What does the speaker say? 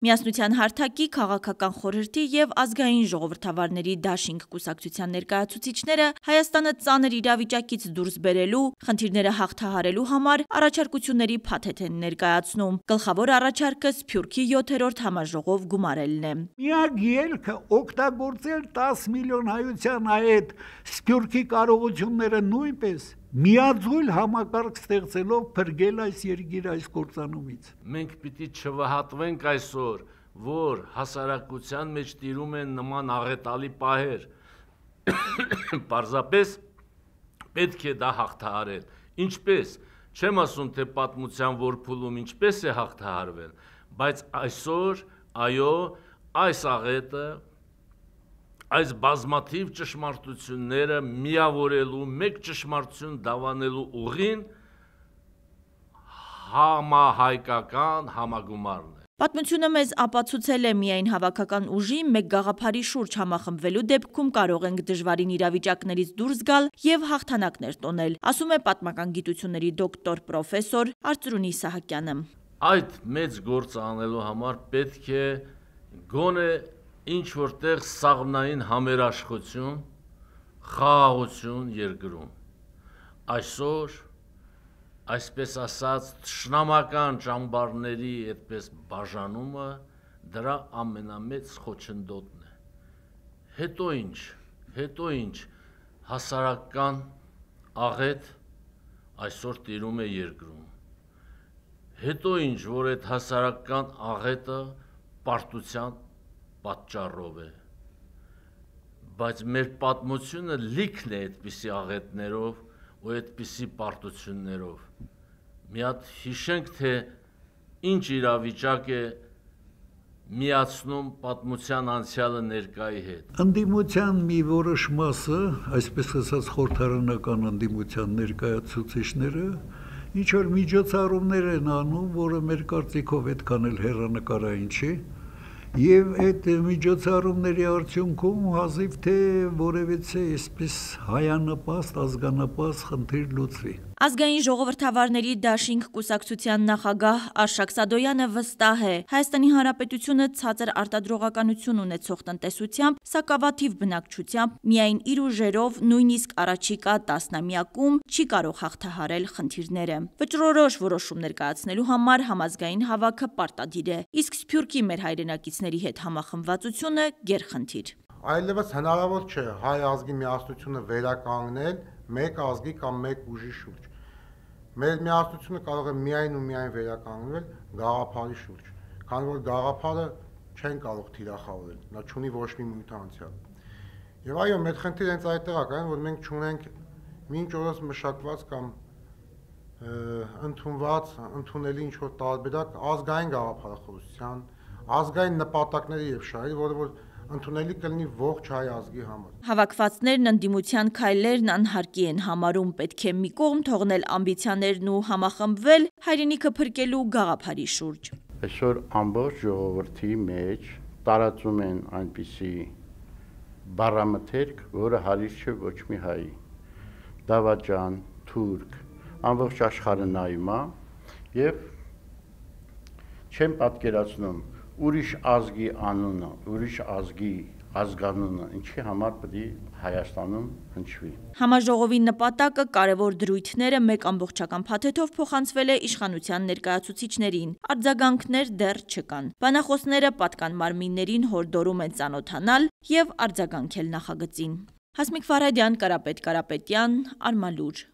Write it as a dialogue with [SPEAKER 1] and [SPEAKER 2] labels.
[SPEAKER 1] Միասնության հարթակի, քաղաքական խորհրդի և ազգային ժողովրդավարների դաշինք կուսակցության ներկայացուցիչները Հայաստանը ծանր իրավիճակից դուրս բերելու, խնդիրները հաղթահարելու համար առաջարկությունների փաթեթ են ներկայացնում։ Գլխավոր առաջարկը Սփյուռքի 7-րդ համաժողով գումարելն է։
[SPEAKER 2] Միակ ելքը օգտագործել 10 միլիոն հայության այդ Սփյուռքի կարողությունները նույնպես միաձույլ համակարգ ստեղծելով փրկել այս երկիրը այս կործանումից։
[SPEAKER 3] Մենք պիտի չվհատվենք այսօր, որ հասարակության մեջ տիրում են նման աղետալի պահեր։ Պարզապես պետք է դա հաղթահարել։ Ինչպես, չեմ ասում, թե պատմության որփուլում ինչպես է հաղթահարվել, բայց այսօր, այո, այս աղետը, այս բազմաթիվ ճշմարտությունները միավորելու, մեկ ճշմարտություն դավանելու ուղին համահայկական համագումարն է։
[SPEAKER 1] Պատմությունը մեզ ապացուցել է միայն հավաքական ուժի մեկ գաղափարի շուրջ համախմբվելու դեպքում կարող ենք դժվարին իրավիճակներից դուրս գալ և հաղթանակներ տոնել, ասում է պատմական գիտությունների դոկտոր պրոֆեսոր Արծրունի Սահակյանը։
[SPEAKER 3] Այդ մեծ գործը անելու համար պետք է գոնե ինչ-որտեղ սաղմնային համերաշխություն, խաղաղություն երկրում։ Այսօր, այսպես ասած, թշնամական ճամբարների այդպես բաժանումը դրա ամենամեծ խոչընդոտն է։ Հետո ինչ, հասարակական աղետ այսօր տիրում է երկրում։ Հետո ինչ, որ այդ հասարակական աղետը պարտության պատճառով է, բայց մեր պատմությունը լիքն է այդպիսի աղետներով ու այդպիսի պարտություններով։ Մի հատ հիշենք, թե ինչ իրավիճակ է միացնում պատմության անցյալը ներկայի հետ։
[SPEAKER 2] Ընդդիմության մի որոշ մասը, այսպես ասած խորհրդարանական ընդդիմության ներկայացուցիչները, ինչ որ միջոցառումներ են անում, որը մեր կարծիքով այդքան էլ հեռանկարային չի, եւ այդ միջոցառումների արդյունքում հազիվ թե որևիցե այսպես հայանպաստ, ազգանպաստ խնդիր լուծվի։
[SPEAKER 1] Ազգային ժողովրդավարների դաշինք կուսակցության նախագահ Արշակ Սադոյանը վստահ է, Հայաստանի Հանրապետությունը ցածր արտադրողականություն ունեցող տնտեսությամբ, սակավաթիվ բնակչությամբ, միայն իր ուժերով, նույնիսկ առաջիկա տասնամյակում չի կարող հաղթահարել խնդիրները։ Վճռորոշ որոշումներ կայացնելու համար համազգային հավաքը պարտադիր է, իսկ Սփյուռքի մեր հայրենակիցների հետ համախմբվածությունը գերխնդիր։
[SPEAKER 4] Այլևս հնարավոր չէ հայ ազգի միասնությունը վերականգնել մեկ ազգի կամ մեկ ուժի շուրջ։ Մեր միասնությունը կարող է միայն ու միայն վերականգնվել գաղափարի շուրջ, քանի որ գաղափարը չեն կարող թիրախավորել, նա չունի ոչ մի մույթ անցյալ։ Եվ այո, մեր խնդիրը հենց այդտեղ է կային, որ մենք չունենք մինչ օրս մշակված կամ ընդունելի ինչ-որ տարբերակ ազգային գաղափարախոսության, ազգային նպատակների եւ շահերի, որը որ ընդունելի կլինի ողջ հայ ազգի համար։
[SPEAKER 1] Հավաքվածներն ընդդիմության քայլերն անհարկի են համարում, պետք է մի կողմ թողնել ամբիցիաներն ու համախմբվել հայրենիքը փրկելու գաղափարի շուրջ։
[SPEAKER 5] Այսօր ամբողջ ժողովրդի մեջ տարածում են այնպիսի բառամթերք, որը հարիր չէ ոչ մի հայի։ Դավաճան, թուրք, ամբողջ աշխարհը նայում է եւ չեմ պատկերացնում ուրիշ ազգի անունը, ուրիշ ազգի ազգանունը ինչի համար պետք է Հայաստանում հնչվի։
[SPEAKER 1] Համաժողովի նպատակը կարևոր դրույթները մեկ ամբողջական փաթեթով փոխանցվել է իշխանության ներկայացուցիչներին։ Արձագանքներ դեռ չկան։ Բանախոսները պատկան մարմիններին հորդորում են ծանոթանալ եւ արձագանքել նախագծին։ Հասմիկ Ֆարադյան, Կարապետ Կարապետյան, Արմալուր։